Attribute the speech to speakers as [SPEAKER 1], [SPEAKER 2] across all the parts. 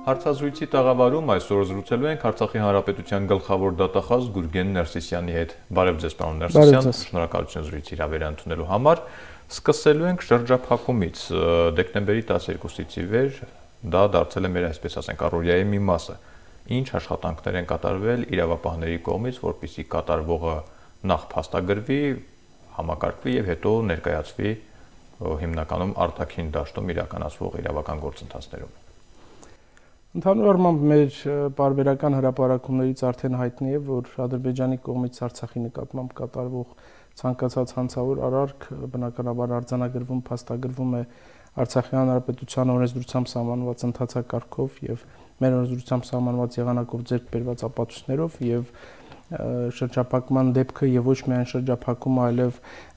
[SPEAKER 1] Հարցազրույցի տաղավարում այսօր զրուցելու ենք Արցախի Հանրապետության գլխավոր դատախազ Գուրգեն Ներսիսյանի հետ։ Բարև ձեզ, պարոն Ներսիսյան, շնորհակալություն զրույցի հրավերը ընդունելու համար։ Սկսելու ենք շրջափակումից։ Դեկտեմբերի 12-ից ի վեր դա դարձել է մեր, այսպես ասենք, առօրյայի մի մասը։ Ինչ աշխատանքներ են կատարվել իրավապահների կողմից, որպեսզի կատարվողը նախ փաստագրվի, համակարգվի եւ հետո ներկայացվի հիմնականում արտաքին դաշտում իրականացվող իրավական գործընթացներում։
[SPEAKER 2] Ընդհանուր առմամբ մեր պարբերական հրապարակումներից արդեն հայտնի է, որ Ադրբեջանի կողմից Արցախի նկատմամբ կատարվող ցանկացած հանցավոր արարք բնականաբար արձանագրվում, փաստագրվում է Արցախի Հանրապետության օրենսդրությամբ սահմանված ընթացակարգով եւ մեր օրենսդրությամբ սահմանված եղանակով ձեռք բերված ապացույցներով եւ շրջափակման դեպքը եւ ոչ միայն շրջափակումը, այլև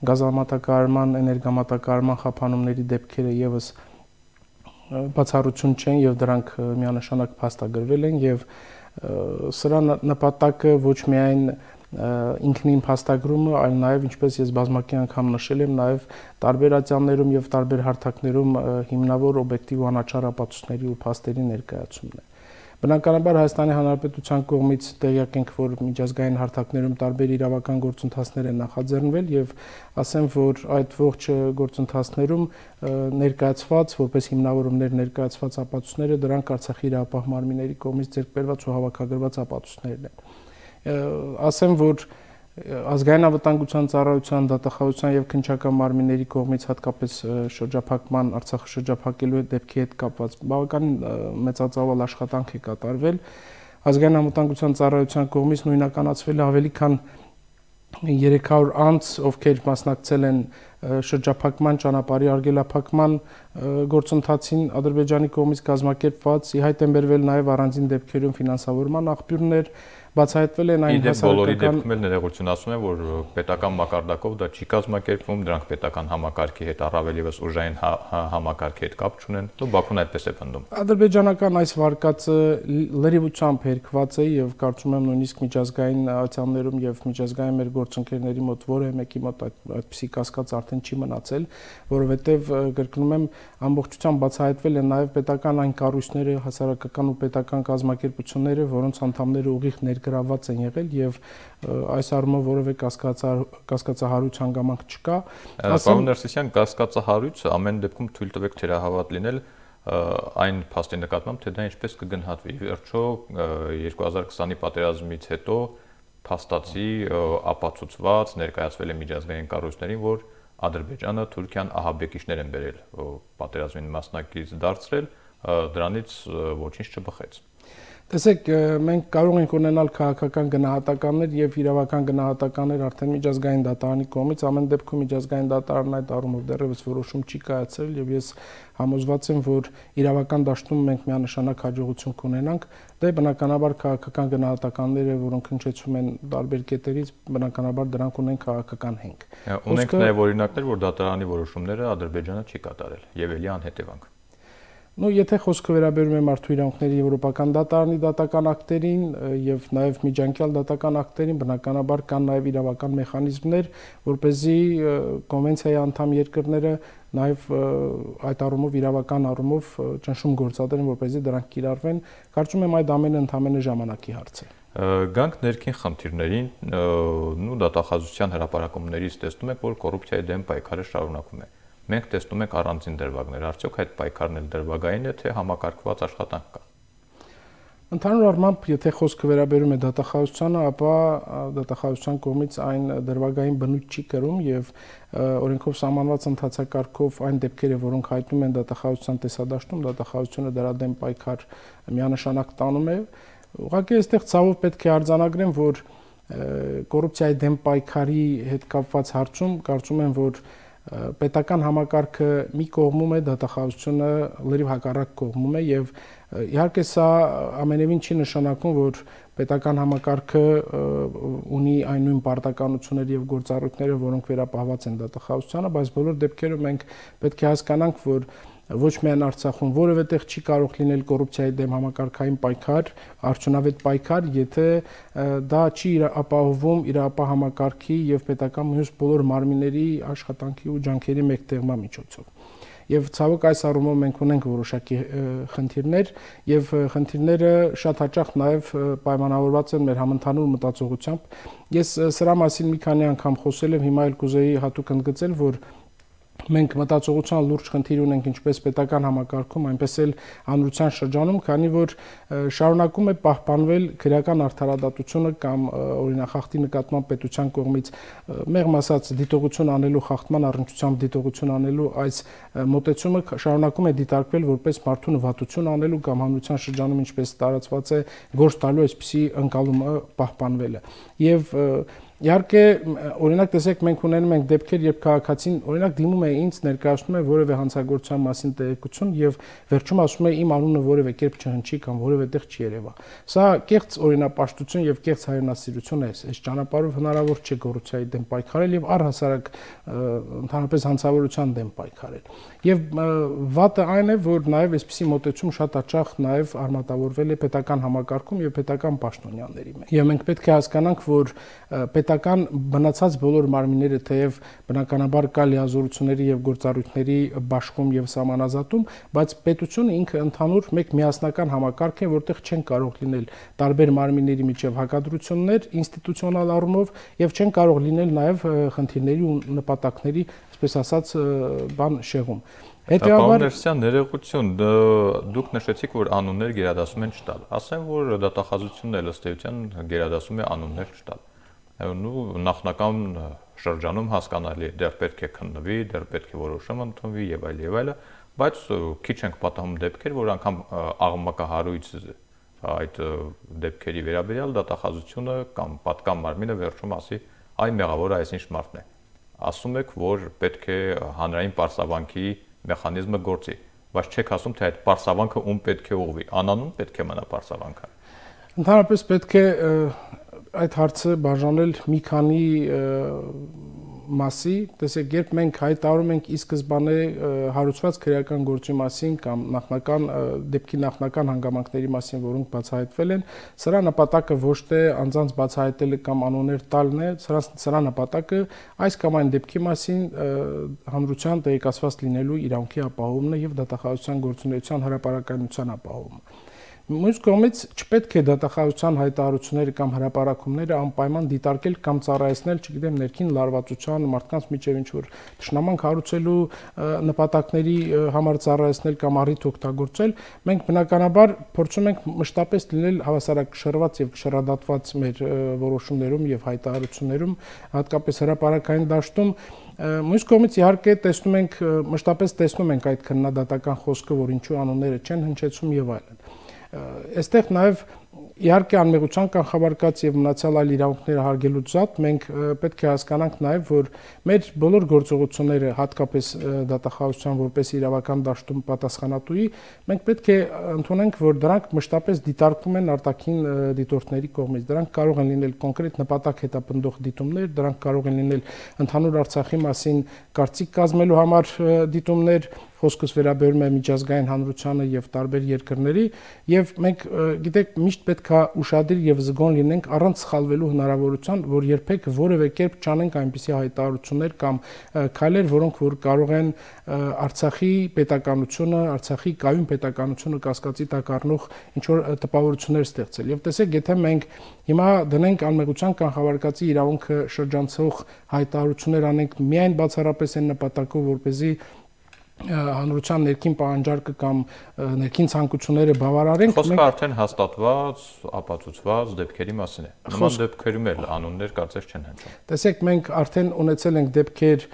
[SPEAKER 2] գազամատակարարման, էներգամատակարարման խափանումների դեպքերը եւս բացառություն չեն եւ դրանք միանշանակ փաստագրվել են եւ սրա նպատակը ոչ միայն ինքնին փաստագրումը, այլ նաեւ ինչպես ես բազմակի անգամ նշել եմ, նաեւ տարբեր ատյաններում եւ տարբեր հարթակներում հիմնավոր օբյեկտիվ ու անաչառ ապացույցների ու փաստերի ներկայացումն է։ Բնականաբար Հայաստանի Հանրապետության կողմից տեղյակ ենք, որ միջազգային հարթակներում տարբեր իրավական գործընթացներ են նախաձեռնվել եւ ասեմ, որ այդ ողջ գործընթացներում ներկայացված որպես հիմնավորումներ ներկայացված ապացույցները դրանք Արցախի իրավապահ մարմինների կողմից ձեռք բերված ու հավաքագրված ապացույցներն են։ Ասեմ, որ Ազգային անվտանգության ծառայության, դատախազության եւ քննչական մարմինների կողմից հատկապես շրջափակման Արցախը շրջափակելու դեպքի հետ կապված բավականին մեծածավալ աշխատանք է կատարվել։ Ազգային անվտանգության ծառայության կողմից նույնականացվել է ավելի քան 300 անձ, ովքեր մասնակցել են շրջափակման ճանապարհի արգելափակման գործընթացին Ադրբեջանի կողմից կազմակերպված, ի հայտ են բերվել նաեւ առանձին դեպքերում ֆինանսավորման աղբյուրներ, բացահայտվել են այն
[SPEAKER 1] բոլորի դեպքում էլ ներողություն ասում եմ, որ պետական մակարդակով դա չի կազմակերպվում, դրանք պետական համակարգի հետ առավել եւս ուժային համակարգի հետ կապ չունեն։ Ու Բաքուն այդպես է պնդում։
[SPEAKER 2] Ադրբեջանական այս վարկածը լրիվությամբ հերքված է եւ կարծում եմ նույնիսկ միջազգային ատյաններում եւ միջազգային մեր գործընկերների մոտ որևէ մեկի մոտ այդպիսի կասկած արդեն չի մնացել, որովհետեւ կրկնում եմ ամբողջությամբ բացահայտվել են նաեւ պետական այն կառույցները, հասարակական ու պետական կազմակերպությունները, որոնց անդամները ուղիղ գրաված են եղել եւ այս առումով որևէ կասկածահարույց հանգամանք չկա։
[SPEAKER 1] Պարոն Ներսիսյան, կասկածահարույց ամեն դեպքում թույլ տվեք թերահավատ լինել այն փաստի նկատմամբ, թե դա ինչպես կգնահատվի։ Վերջո 2020-ի պատերազմից հետո փաստացի ապացուցված ներկայացվել է միջազգային կառույցներին, որ Ադրբեջանը, Թուրքիան ահաբեկիչներ են բերել պատերազմին մասնակից դարձրել, դրանից ոչինչ չբխեց։
[SPEAKER 2] Տեսեք, մենք կարող ենք ունենալ քաղաքական գնահատականներ եւ իրավական գնահատականներ արդեն միջազգային դատարանի կողմից, ամեն դեպքում միջազգային դատարանն այդ առումով դեռևս որոշում չի կայացրել եւ ես համոզված եմ, որ իրավական դաշտում մենք միանշանակ հաջողություն կունենանք։ Դե բնականաբար քաղաքական գնահատականները, որոնք հնչեցում են տարբեր կետերից, բնականաբար դրանք ունեն քաղաքական հենք։
[SPEAKER 1] Ունենք նաեւ օրինակներ, որ դատարանի որոշումները Ադրբեջանը չի կատարել եւ էլի անհետևանք։
[SPEAKER 2] Եթե խոսքը վերաբերում է մարդու իրավունքների եվրոպական դատարանի դատական ակտերին եւ նաեւ միջանկյալ դատական ակտերին, բնականաբար կան նաեւ իրավական մեխանիզմներ, որպեսզի կոնվենցիայի անդամ երկրները նաեւ այդ առումով իրավական առումով ճնշում գործադրեն, որպեսզի դրանք կիրառվեն։ Կարծում եմ այդ ամենը ընդամենը ժամանակի հարց է։
[SPEAKER 1] Գանք ներքին խնդիրներին, ու դատախազության հրապարակումներից տեսնում եք, որ կոռուպցիայի դեմ պայքարը շարունակվում է։ Մենք տեսնում ենք առանձին դրվագներ, արդյոք այդ պայքարն էլ դրվագային է, թե համակարգված աշխատանք կա։
[SPEAKER 2] Ընդհանուր առմամբ, եթե խոսքը վերաբերում է դատախազությանը, ապա դատախազության կողմից այն դրվագային բնույթ չի կրում եւ օրենքով սահմանված ընթացակարգով այն դեպքերը, որոնք հայտնում են դատախազության տեսադաշտում, դատախազությունը դրա դեմ պայքար միանշանակ տանում է։ Ուղղակի այստեղ ցավով պետք է արձանագրեմ, որ կոռուպցիայի դեմ պայքարի հետ կապված հարցում կարծում եմ, որ պետական համակարգը մի կողմում է, դատախազությունը լրիվ հակառակ կողմում է եւ իհարկե սա ամենևին չի նշանակում, որ պետական համակարգը ունի այն նույն պարտականությունները եւ գործառույթները, որոնք վերապահված են դատախազությանը, բայց բոլոր դեպքերում մենք պետք է հասկանանք, որ ոչ միայն Արցախում որևէ տեղ չի կարող լինել կոռուպցիայի դեմ համակարգային պայքար, արդյունավետ պայքար, եթե դա չի ապահովում իրավապահ համակարգի եւ պետական մյուս բոլոր մարմինների աշխատանքի ու ջանքերի մեկտեղման միջոցով։ եւ ցավոք այս առումով մենք ունենք որոշակի խնդիրներ եւ խնդիրները շատ հաճախ նաեւ պայմանավորված են մեր համընդհանուր մտածողությամբ։ Ես սրա մասին մի քանի անգամ խոսել եմ, հիմա էլ կուզեի հատուկ ընդգծել, որ մենք մտածողության լուրջ խնդիր ունենք ինչպես պետական համակարգում, այնպես էլ հանրության շրջանում, քանի որ շարունակում է պահպանվել քրեական արդարադատությունը կամ օրինախախտի նկատմամբ պետության կողմից մեղմ ասած դիտողություն անելու խախտման առնչությամբ դիտողություն անելու այս մոտեցումը շարունակում է դիտարկվել որպես մարդու նվատություն անելու կամ հանրության շրջանում ինչպես տարածված է գործ տալու այսպիսի ընկալումը պահպանվելը։ Եվ իհարկե, օրինակ տեսեք, մենք ունենում ենք դեպքեր, երբ քաղաքացին օրինակ դիմում է ինձ, ներկայացնում է որևէ հանցագործության մասին տեղեկություն եւ վերջում ասում է իմ անունը որևէ կերպ չհնչի կամ որևէ տեղ չերևա։ Սա կեղծ օրինապաշտություն եւ կեղծ հայրենասիրություն է, այս ճանապարհով հնարավոր չէ կոռուպցիայի դեմ պայքարել եւ առհասարակ ընդհանրապես հանցավորության դեմ պայքարել։ Եվ վատը այն է, որ նաեւ այսպիսի մոտեցում շատ հաճախ նաեւ արմատավորվել է պետական համակարգում եւ պետական պաշտոնյաների մեջ։ Եվ մենք պետք է հասկանանք, որ պետական բնացած բոլոր մարմինները թեև բնականաբար կա լիազորությունների եւ գործառույթների բաշխում եւ սահմանազատում, բայց պետությունը ինքը ընդհանուր մեկ միասնական համակարգ է, որտեղ չեն կարող լինել տարբեր մարմինների միջև հակադրություններ ինստիտուցիոնալ առումով եւ չեն կարող լինել նաեւ խնդիրների ու նպատակների, այսպես ասած, շեղում։
[SPEAKER 1] Հետևաբար ներողություն, դուք նշեցիք, որ անուններ գերադասում են չտալ։ Ասեմ, որ դատախազությունն էլ ըստ էության գերադասում է անուններ չտալ։ Նախնական շրջանում հասկանալի է, դեռ պետք է քննվի, դեռ պետք է որոշում ընդունվի եւ այլը, բայց քիչ ենք պատահում դեպքեր, որ անգամ աղմկահարույց այդ դեպքերի վերաբերյալ դատախազությունը կամ պատկան մարմինը վերջում ասի, այ մեղավորը այսինչ մարդն է։ Ասում եք, որ պետք է հանրային պարսավանքի մեխանիզմը գործի, բայց չեք ասում, թե այդ պարսավանքը ում պետք է ուղղվի, անանուն պետք է մնա պարսավանքը։
[SPEAKER 2] Ընդհանրապես պետք է այդ հարցը բաժանել մի քանի մասի, տեսեք, երբ մենք հայտարարում ենք ի սկզբանե հարուցված քրեական գործի մասին կամ դեպքի նախնական հանգամանքների մասին, որոնք բացահայտվել են, սրա նպատակը ոչ թե անձանց բացահայտելը կամ անուններ տալն է, սրա նպատակը այս կամ այն դեպքի մասին հանրության տեղեկացված լինելու իրավունքի ապահովումն է եւ դատախազության գործունեության հրապարակայնության ապահովումը։ Մյուս կողմից չպետք է դատախազության հայտարարությունները կամ հրապարակումները անպայման դիտարկել կամ ծառայեցնել, չգիտեմ, ներքին լարվածության, մարդկանց միջև ինչ-որ թշնամանք հարուցելու նպատակների համար ծառայեցնել կամ առիթ օգտագործել։ Մենք բնականաբար փորձում ենք մշտապես լինել հավասարակշռված եւ կշռադատված մեր որոշումներում եւ հայտարարություններում, հատկապես հրապարակային դաշտում։ Մյուս կողմից իհարկե մշտապես տեսնում ենք այդ քննադատական խոսքը, որ ինչու անունները չեն հնչեցում եւ այլն։ Այստեղ նաև իհարկե անմեղության կանխավարկած եւ մնացյալ այլ իրավունքները հարգելուց զատ մենք պետք է հասկանանք նաև, որ մեր բոլոր գործողությունները, հատկապես դատախազության որպես իրավական դաշտում պատասխանատուի, մենք պետք է ընդունենք, որ դրանք մշտապես դիտարկվում են արտաքին դիտորդների կողմից։ Դրանք կարող են լինել կոնկրետ նպատակ հետապնդող դիտումներ, դրանք կարող են լինել ընդհանուր Արցախի մասին կարծիք կազմելու համար դիտումներ, խոսքս վերաբերում է միջազգային հանրությանը եւ տարբեր երկրների, եւ մենք գիտեք միշտ պետք է ուշադիր եւ զգոն լինենք առանց սխալվելու հնարավորության, որ երբեք որևէ կերպ չանենք այնպիսի հայտարարություններ կամ քայլեր, որոնք որ կարող են Արցախի պետականությունը, Արցախի կայուն պետականությունը կասկածի տակ առնող ինչ որ տպավորություններ ստեղծել։ Եվ տեսեք, եթե մենք հիմա դնենք անմեղության կանխավարկածի իրավունքը շրջանցող հայտարարություններ անենք միայն բացառապես այն նպատակով, որպեսզի հանրության ներքին պահանջարկը կամ ներքին ցանկությունները բավարարենք,
[SPEAKER 1] խոսքը արդեն հաստատված, ապացուցված դեպքերի մասին է։ Նման դեպքերում էլ անուններ կարծես չեն հնչում։
[SPEAKER 2] Տեսեք, մենք արդեն ունեցել ենք դեպքեր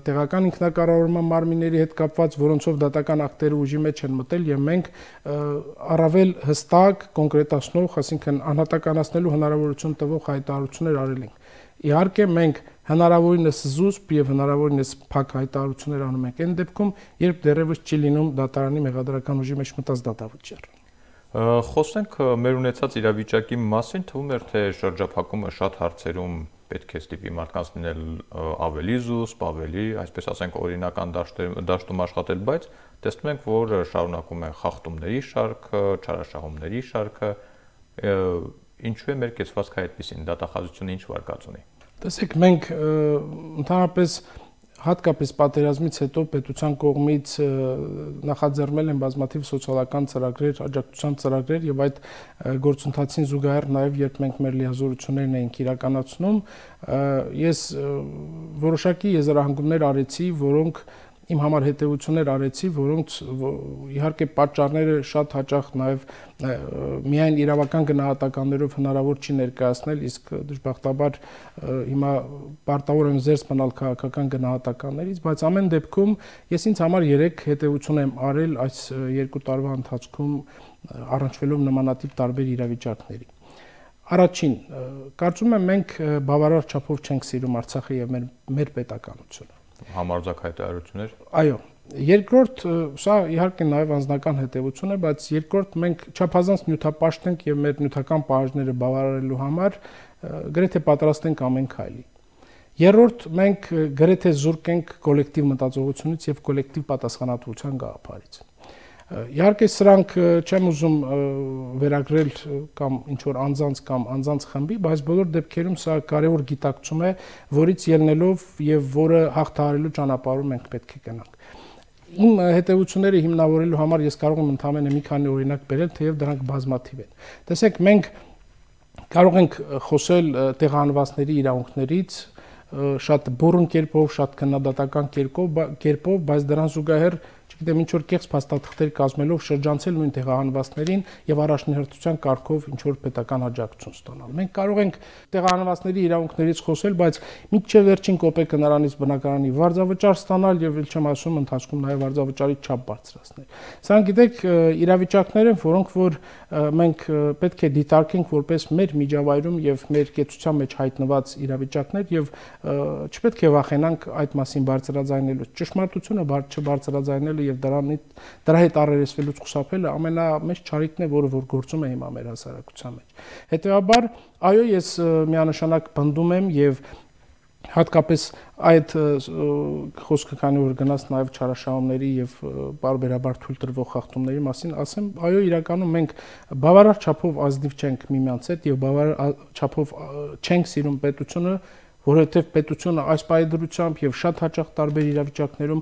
[SPEAKER 2] տեղական ինքնակառավարման մարմինների հետ կապված, որոնցով դատական ակտերը ուժի մեջ են մտել եւ մենք առավել հստակ, կոնկրետացնող, այսինքն անհատականացնելու հնարավորություն տվող հայտարարություններ արել ենք։ Իհարկե մենք հնարավորինս զուսպ եւ հնարավորինս փակ հայտարարություններ անում ենք այն դեպքում, երբ դեռևս չի լինում դատարանի մեղադրական ուժի մեջ մտած դատավճիռ։
[SPEAKER 1] Խոսենք մեր ունեցած իրավիճակի մասին, թվում է թե շրջափակումը շատ հարցերում պետք է ստիպի մարդկանց լինել ավելի զուսպ, ավելի, այսպես ասենք, օրինական դաշտում աշխատել, բայց տեսնում ենք, որ շարունակում է խախտումների շարքը, չարաշահումների շարքը, ինչու է մեր կեցվածքը այդպեսին, դատախազությունը ինչ վարկած ունի։
[SPEAKER 2] Տեսեք, մենք ընդհանրապես հատկապես պատերազմից հետո պետության կողմից նախաձեռնել են բազմաթիվ սոցիալական ծրագրեր, աջակցության ծրագրեր եւ այդ գործընթացին զուգահեռ նաեւ երբ մենք մեր լիազորություններն էինք իրականացնում, ես որոշակի եզրահանգումներ արեցի, որոնք իմ համար հետևություններ արեցի, որոնց իհարկե պատճառները շատ հաճախ նաև միայն իրավական գնահատականներով հնարավոր չի ներկայացնել, իսկ դժբախտաբար հիմա պարտավոր եմ զերծ մնալ քաղաքական գնահատականներից, բայց ամեն դեպքում ես ինձ համար 3 հետևություն եմ արել այս 2 տարվա ընթացքում առնչվելով նմանատիպ տարբեր իրավիճակների։ Առաջին, կարծում եմ մենք բավարար չափով չենք սիրում Արցախը եւ մեր պետականությունը։
[SPEAKER 1] Համարձակ հայտարարություններ։
[SPEAKER 2] Այո, երկրորդ, սա իհարկե նաև անձնական հետևություն է, բայց երկրորդ մենք չափազանց նյութապաշտ ենք եւ մեր նյութական պահանջները բավարարելու համար գրեթե պատրաստ ենք ամեն քայլի։ Երրորդ, մենք գրեթե զուրկ ենք կոլեկտիվ մտածողությունից եւ կոլեկտիվ պատասխանատվության գաղափարից։ Իհարկե սրանք չեմ ուզում վերագրել կամ ինչ որ անձանց կամ անձանց խմբի, բայց բոլոր դեպքերում սա կարևոր գիտակցում է, որից ելնելով եւ որը հաղթահարելու ճանապարհում մենք պետք է գնանք։ Իմ հետևությունները հիմնավորելու համար ես կարող եմ ընդհանրապես մի քանի օրինակ բերել, թեև դրանք բազմաթիվ են։ Տեսեք, մենք կարող ենք խոսել տեղահանվածների իրավունքներից շատ բուրըն կերպով, շատ քննադատական կերպով, բայց դրան զուգահեռ չգիտեմ ինչ որ կեղծ փաստաթղթեր կազմելով շրջանցել նույն տեղահանվածներին եւ առաջնահերթության կարգով ինչ որ պետական աջակցություն ստանալ։ Մենք կարող ենք տեղահանվածների իրավունքներից խոսել, բայց մինչեւ վերջին կոպեկը նրանից բնակարանի վարձավճար ստանալ եւ ել չեմ ասում ընթացքում նաեւ վարձավճարի չափ բարձրացնել։ Սրանք գիտեք իրավիճակներ են, որոնք որ մենք պետք է դիտարկենք որպես մեր միջավայրում եւ մեր կեցության մեջ հայտնված իրավիճակներ եւ չպետք է վախենանք այդ մասին բարձրաձայնելուց։ Ճշմարտությունը չբարձրաձայնելը եւ դրա հետ առերեսվելուց խուսափելը ամենամեծ չարիքն է, որը որ գործում է հիմա մեր հասարակության մեջ։ Հետեւաբար, այո, ես միանշանակ պնդում եմ եւ հատկապես այդ խոսքը քանի որ գնաց նաև չարաշահումների եւ բարբերաբար թույլ տրվող խախտումների մասին, ասեմ, այո, իրականում մենք բավարար չափով ազնիվ չենք միմյանց հետ եւ բավարար չափով չենք սիրում պետությունը, որովհետեւ պետությունը այս պայդրությամբ եւ շատ հաճախ տարբեր իրավիճակներում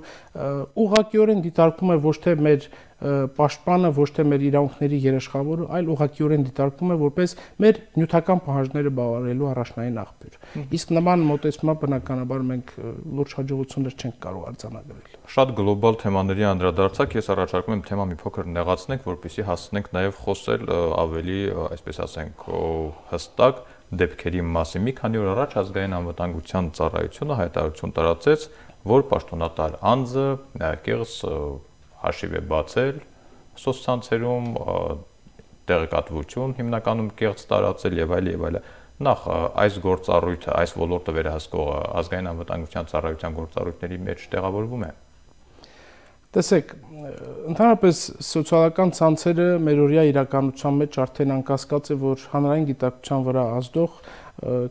[SPEAKER 2] ուղղակիորեն դիտարկում է ոչ թե մեր պաշտպանը, ոչ թե մեր իրավունքների երաշխավորը, այլ ուղղակիորեն դիտարկում է որպես մեր նյութական պահանջները բավարարելու առաջնային աղբյուր։ Իսկ նման մոտեցումով բնականաբար մենք լուրջ հաջողություններ չենք կարող արձանագրել։
[SPEAKER 1] Շատ գլոբալ թեմաների անդրադարձակ ես առաջարկում եմ թեման մի փոքր նեղացնենք, որպեսզի հասնենք նաև խոսել ավելի, այսպես ասենք, հստակ դեպքերի մասին։ Մի քանի օր առաջ ազգային անվտանգության ծառայությունը հայտարարություն տարածեց, որ պաշտոնատար անձը կեղծ հաշիվ է բացել սոցցանցերում, տեղեկատվություն հիմնականում կեղծ տարածել եւ այլ եւ այլ։ Նախ այս գործառույթը, այս ոլորտը վերահսկող ազգային անվտանգության ծառայության գործառույթների մեջ տեղավորվում է։
[SPEAKER 2] Տեսեք, ընդհանրապես սոցիալական ցանցերը մերօրյա իրականության մեջ արդեն անկասկած է, որ հանրային գիտակցության վրա ազդող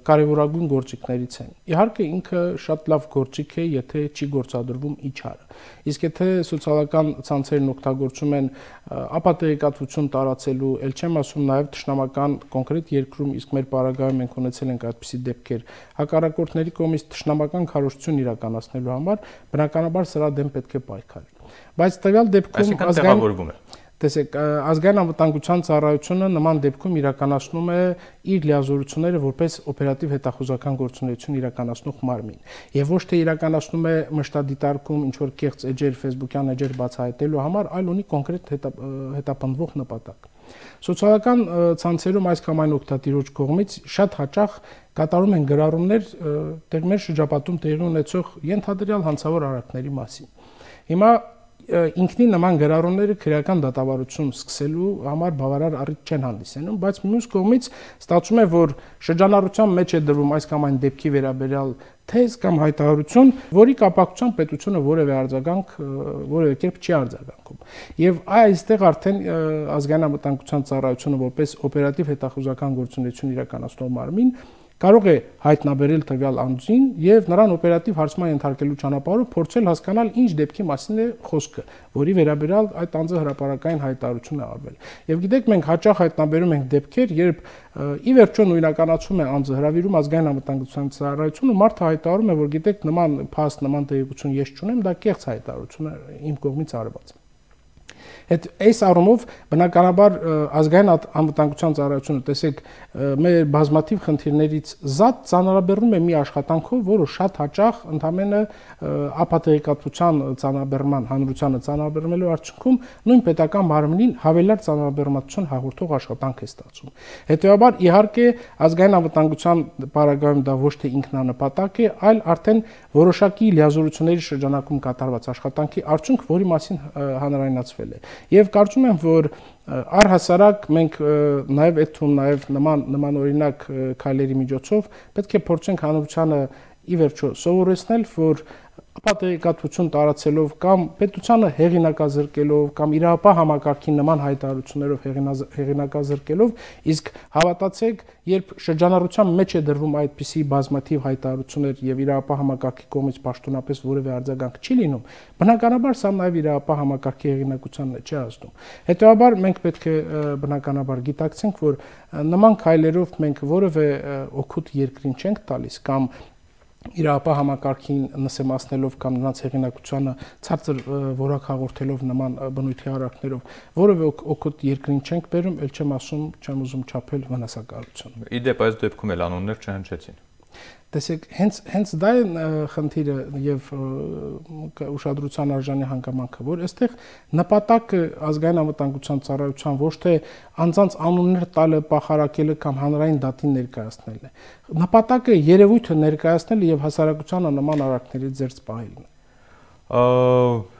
[SPEAKER 2] կարևորագույն գործիքներից են։ Իհարկե ինքը շատ լավ գործիք է, եթե չի գործադրվում իջարը։ Իսկ եթե սոցիալական ցանցերն օգտագործում են ապատեգատվություն տարածելու, ել չեմ ասում նաև թշնամական կոնկրետ երկրում, իսկ մեր պարագայում մենք ունեցել ենք այդպիսի դեպքեր, հակառակորդների կողմից թշնամական քարոզություն իրականացնելու համար, բնականաբար սրա դեմ պետք է պայքարել։ Բայց տվյալ դեպքում
[SPEAKER 1] տեղավորվում է։
[SPEAKER 2] Տեսեք, ազգային անվտանգության ծառայությունը նման դեպքում իրականացնում է իր լիազորությունները որպես օպերատիվ հետախուզական գործունեություն իրականացնող մարմին։ Եվ ոչ թե իրականացնում է մշտադիտարկում ինչ որ կեղծ էջեր, Facebook-յան էջեր բացահայտելու համար, այլ ունի կոնկրետ հետապնդվող նպատակ։ Սոցիալական ցանցերում այս կամ այն օգտատիրոջ կողմից շատ հաճախ կատարում են գրառումներ մեր շրջապատում տեղի ունեցող ենթադրյալ հանցավոր արարքների մասին։ Հիմա ինքնին նման գրառումները քրեական դատավարություն սկսելու համար բավարար առիթ չեն հանդիսանում, բայց մյուս կողմից ստացվում է, որ շրջանառության մեջ է դրվում այս կամ այն դեպքի վերաբերյալ թեզ կամ հայտարարություն, որի կապակցությամբ պետությունը որևէ արձագանք որևէ կերպ չի արձագանքում։ Եվ այստեղ արդեն ազգային անվտանգության ծառայությունը որպես օպերատիվ հետախուզական գործունեություն իրականացնող մարմին կարող է հայտնաբերել տվյալ անձին եւ նրան օպերատիվ հարցման ենթարկելու ճանապարհով փորձել հասկանալ ինչ դեպքի մասին է խոսքը, որի վերաբերյալ այդ անձը հրապարակային հայտարարություն է արվել։ Եվ գիտեք, մենք հաճախ հայտնաբերում ենք դեպքեր, երբ ի վերջո նույնականացում է անձը, հրավիրում ազգային անվտանգության ծառայությունը, մարդը հայտարարում է, որ գիտեք, նման փաստ, նման տեղեկություն ես չունեմ, դա կեղծ հայտարարություն է իմ կողմից արված։ Այս առումով բնականաբար ազգային անվտանգության ծառայությունը, տեսեք, մեր բազմաթիվ խնդիրներից զատ ծանրաբեռնում է մի աշխատանքով, որը շատ հաճախ ընդամենը ապատեղեկատվության ծանրաբեռնման, հանրությանը ծանրաբեռնելու արդյունքում նույն պետական մարմնին հավելյալ ծանրաբեռնվածություն հաղորդող աշխատանք է ստացվում։ Հետևաբար, իհարկե, ազգային անվտանգության պարագայում դա ոչ թե ինքնանպատակ է, այլ արդեն որոշակի լիազորությունների շրջանակում կատարված աշխատանքի արդյունք, որի մասին հանրայնացվել է։ Եվ կարծում եմ, որ առհասարակ մենք նաև այդ թվում նաև նման օրինակ քայլերի միջոցով պետք է փորձենք հանրությանը ի վերջո սովորեցնել, որ ապատեղեկատվություն տարածելով կամ պետությանը հեղինակազրկելով կամ իրավապահ համակարգին նման հայտարարություններով հեղինակազրկելով, իսկ հավատացեք, երբ շրջանառության մեջ է դրվում այդպիսի բազմաթիվ հայտարարություններ եւ իրավապահ համակարգի կողմից պաշտոնապես որևէ արձագանք չի լինում, բնականաբար սա նաեւ իրավապահ համակարգի հեղինակությանն է չի ազդում։ Հետեւաբար մենք պետք է բնականաբար գիտակցենք, որ նման քայլերով մենք որևէ օգուտ երկրին չենք տալիս կամ իրավապահ համակարգին նսեմացնելով կամ նրանց հեղինակությանը ցածր որակ հաղորդելով նման բնույթի հարակներով որևէ օգուտ երկրին չենք բերում, ել չեմ ասում, չեմ ուզում չափել վնասակարություն։
[SPEAKER 1] Իդեպ այս դեպքում էլ անուններ չհնչեցին։
[SPEAKER 2] Տեսեք, հենց դա է խնդիրը եւ ուշադրության արժանի հանգամանքը, որ այստեղ նպատակը ազգային անվտանգության ծառայության ոչ թե անձանց անուններ տալը, պախարակելը կամ հանրային դատին ներկայացնելն է։ Նպատակը երևույթը ներկայացնելը եւ հասարակությանը նման արարքներից զերծ պահելն է։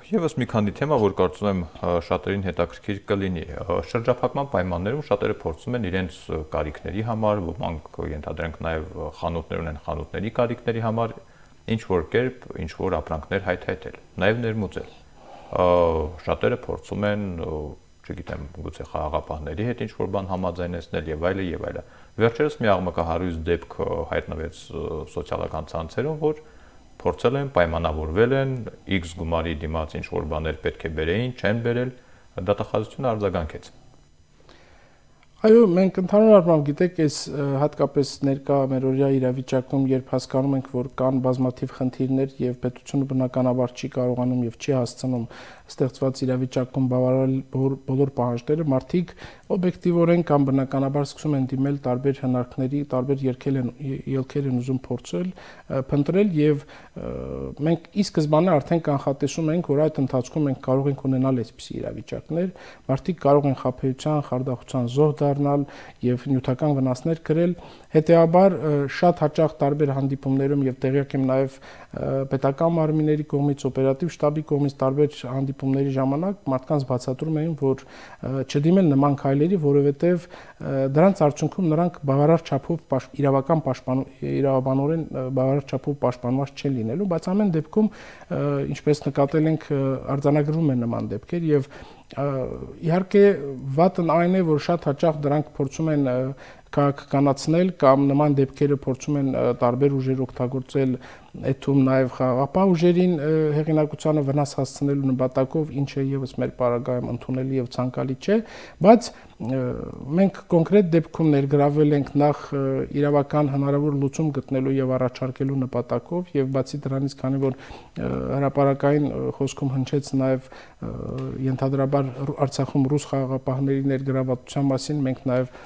[SPEAKER 1] Եվս մի քանի թեմա, որ կարծում եմ շատերին հետաքրքիր կլինի։ Շրջափակման պայմաններում շատերը փորձում են իրենց կարիքների համար, ոմանք ենթադրենք նաև խանութներ ունեն, խանութների կարիքների համար ինչ որ կերպ, ինչ որ ապրանքներ հայթայթել, նաև ներմուծել։ Շատերը փորձում են, չգիտեմ, գուցե խաղաղապահների հետ ինչ որ բան համաձայնեցնել եւ այլը եւ այլը։ Վերջերս մի աղմկահարույց դեպք հայտնվեց սոցիալական ցանցերում, որ փորձել են, պայմանավորվել են, X գումարի դիմաց ինչ որ բաներ պետք է բերեին, չեն բերել, դատախազությունը արձագանքեց։
[SPEAKER 2] Այո, մենք ընդհանուր առմամբ գիտեք, այս հատկապես ներկա մերօրյա իրավիճակում, երբ հասկանում ենք, որ կան բազմաթիվ խնդիրներ եւ պետությունը բնականաբար չի կարողանում եւ չի հասցնում ստեղծված իրավիճակում բավարարել բոլոր պահանջները, մարդիկ օբյեկտիվորեն կամ բնականաբար սկսում են դիմել տարբեր հնարքների, տարբեր ելքեր են ուզում փորձել, փնտրել եւ մենք ի սկզբանե արդեն կանխատեսում ենք, որ այդ ընթացքում մենք կարող ենք ունենալ այսպիսի իրավիճակներ, մարդիկ կարող են խաբեության, խարդախության զոհ դառնալ եւ նյութական վնասներ կրել, հետեւաբար շատ հաճախ տարբեր հանդիպումներում եւ տեղյակ եմ նաեւ պետական մարմինների կողմից, օպերատիվ շտաբի կողմից տարբեր հանդիպումների ժամանակ մարդկանց բացատրում էին, որ չդիմեն նման քայլերի, որովհետեւ դրանց արդյունքում նրանք բավարար չափով իրավաբանորեն բավարար չափով պաշտպանված չեն լինելու, բայց ամեն դեպքում ինչպես նկատել ենք արձանագրվում են նման դեպքեր եւ իհարկե վատն այն է, որ շատ հաճախ դրանք փորձում են քաղաքականացնել կամ նման դեպքերը փորձում են տարբեր ուժեր օգտագործել, այդ թվում նաև խաղաղապահ ուժերին հեղինակությանը վնաս հասցնելու նպատակով, ինչը եւս մեր պարագայում ընդունելի եւ ցանկալի չէ, բայց մենք կոնկրետ դեպքում ներգրավել ենք նախ իրավական հնարավոր լուծում գտնելու եւ առաջարկելու նպատակով եւ բացի դրանից, քանի որ հրապարակային խոսքում հնչեց նաեւ ենթադրաբար Արցախում ռուս խաղաղապահների ներգրավվածության մասին, մենք նաեւ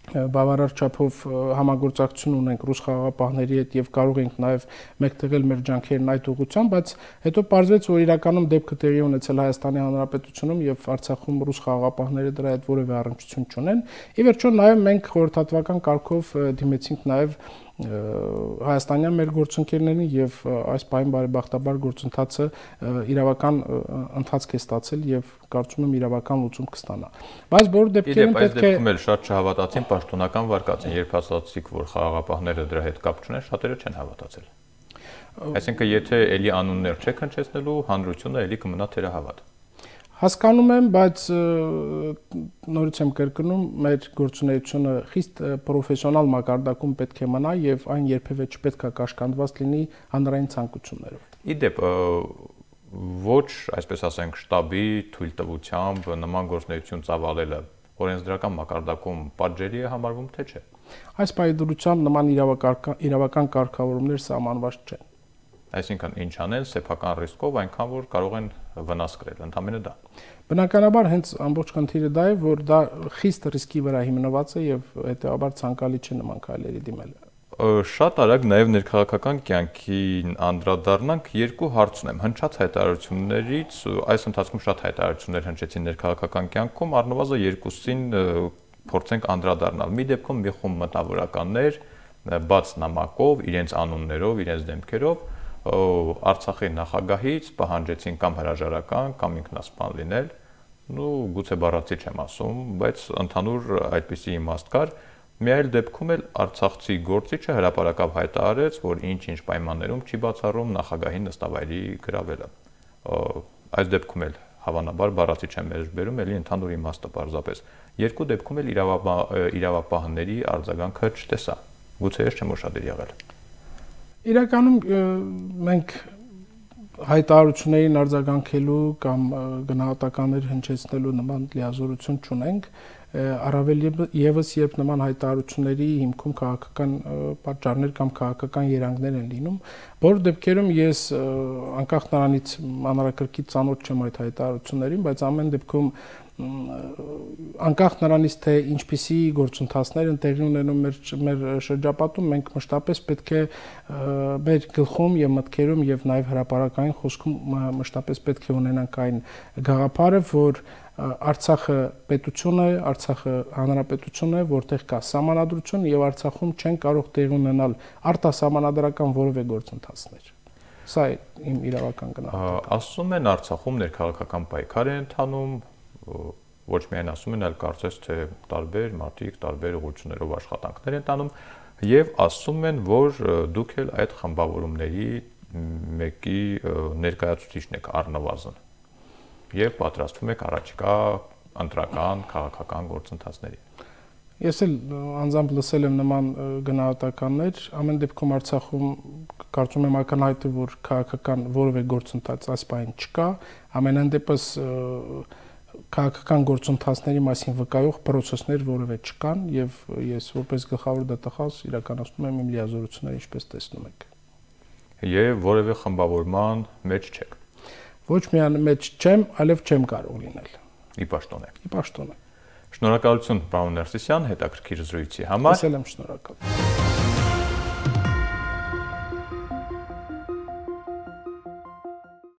[SPEAKER 2] բավարար չափով համագործակցություն ունենք ռուս խաղաղապահների հետ եւ կարող ենք նաեւ մեկտեղել մեր ջանքերն այդ ուղղությամբ, բայց հետո պարզվեց, որ իրականում դեպքը տեղի ունեցել Հայաստանի Հանրապետությունում եւ Արցախում ռուս խաղաղապահները դրա հետ որևէ առնչություն չունեն։ Ի վերջո նաեւ մենք խորհրդատվական կարգով դիմեցինք նաեւ հայաստանյան մեր գործընկերներին եւ այս պահին բարեբախտաբար գործընթացը իրավական ընթացք է ստացել եւ կարծում եմ իրավական լուծում կստանա։ Բայց բոլոր դեպքերում
[SPEAKER 1] պետք է դեպքում էլ շատ չհավատացին պաշտոնական վարկածին, երբ ասացիք, որ խաղաղապահները դրա հետ կապ չունեն, շատերը չեն հավատացել։ Այսինքն եթե էլի անուններ չեք հնչեցնելու, հանրությունը էլի կմնա թերահավատ։
[SPEAKER 2] Հասկանում եմ, բայց նորից եմ կրկնում, մեր գործունեությունը խիստ պրոֆեսիոնալ մակարդակում պետք է մնա եւ այն երբեւե չպետք է կաշկանդված լինի հանրային ցանկություններով։
[SPEAKER 1] Իդեպ ոչ, այսպես ասենք, շտաբի թույլտվությամբ նման գործունեություն ծավալելը օրենսդրական մակարդակում պատժելի է համարվում, թե չէ։
[SPEAKER 2] Այս պայմանությամբ նման իրավական կարգավորումներ սահմանված չեն։
[SPEAKER 1] Այսինքն ինչ անեն սեփական ռիսկով այնքան որ կարող են վնաս կրել, ընդհանրապես դա։
[SPEAKER 2] Բնականաբար հենց ամբողջ խնդիրը դա է, որ դա խիստ ռիսկի վրա հիմնված է եւ հետեւաբար ցանկալի չէ նման քայլերի դիմելը։
[SPEAKER 1] Շատ արագ նաև ներքաղաքական կյանքին անդրադառնանք, երկու հարց ունեմ։ Հնչած հայտարարություններից, այս ընթացքում շատ հայտարարություններ հնչեցին ներքաղաքական կյանքում, առնվազն երկուսին փորձենք անդրադառնալ։ Մի դեպքում մի խումբ մտավորականներ բաց նամակով, իրենց անուններով, իրենց դեմքերով Արցախի նախագահից պահանջեցին կամ հրաժարական, կամ ինքնասպան լինել, գուցե բառացի չեմ ասում, բայց ընդհանուր այդպիսի իմաստ կար։ Մի այլ դեպքում էլ արցախցի գործիչը հրապարակավ հայտարարեց, որ ինչ-ինչ պայմաններում չի բացառում նախագահի նստավայրի գրավելը։ Այս դեպքում էլ հավանաբար բառացի չեմ մեջբերում, ելի ընդհանուր իմաստը պարզապես։ Երկու դեպքում էլ իրավապահների արձագանքը չտեսա։ Գուցե ես չեմ ուշադիր եղել։
[SPEAKER 2] Իրականում մենք հայտարարություններին արձագանքելու կամ գնահատականներ հնչեցնելու նման լիազորություն չունենք, առավել եւս երբ նման հայտարարությունների հիմքում քաղաքական պատճառներ կամ քաղաքական երանգներ են լինում, որ դեպքերում ես անկախ նրանից մանրակրկիտ ծանոթ չեմ այդ հայտարարություններին, բայց ամեն դեպքում անկախ նրանից թե ինչպիսի գործընթացներ են տեղի ունենում մեր շրջապատում, մենք մշտապես պետք է մեր գլխում եւ մտքերում եւ նաեւ հրապարակային խոսքում մշտապես պետք է ունենանք այն գաղափարը, որ Արցախը պետություն է, Արցախը հանրապետություն է, որտեղ կա սահմանադրություն եւ Արցախում չեն կարող տեղի ունենալ արտասահմանադրական որևէ գործընթացներ։ Սա է իմ իրավական գնահատականը։
[SPEAKER 1] Ասում են Արցախում ներքաղաքական պայքար է ընթանում, ոչ միայն ասում են, այլ կարծես թե տարբեր մարդիկ, տարբեր ուղղություններով աշխատանքներ են տանում եւ ասում են, որ դուք էլ այդ խմբավորումների մեկի ներկայացուցիչն եք առնվազն եւ պատրաստվում եք առաջիկա ընտրական քաղաքական գործընթացների։
[SPEAKER 2] Ես էլ անձամբ լսել եմ նման գնահատականներ, ամեն դեպքում Արցախում կարծում եմ ակնհայտ է, որ քաղաքական որևէ գործընթաց այս պահին չկա, ամենայն դեպս քաղաքական գործընթացների մասին վկայող process-ներ որևէ չկան եւ ես որպես գլխավոր դատախազ իրականացնում եմ իմ լիազորությունները ինչպես տեսնում եք։
[SPEAKER 1] Եվ որևէ խմբավորման մեջ չեք։
[SPEAKER 2] Ոչ միայն մեջ չեմ, այլև չեմ կարող լինել։
[SPEAKER 1] Ի պաշտոն է։
[SPEAKER 2] Ի պաշտոն է։
[SPEAKER 1] Շնորհակալություն, պարոն Ներսիսյան, հետաքրքիր զրույցի համար։
[SPEAKER 2] Ես էլ եմ շնորհակալ։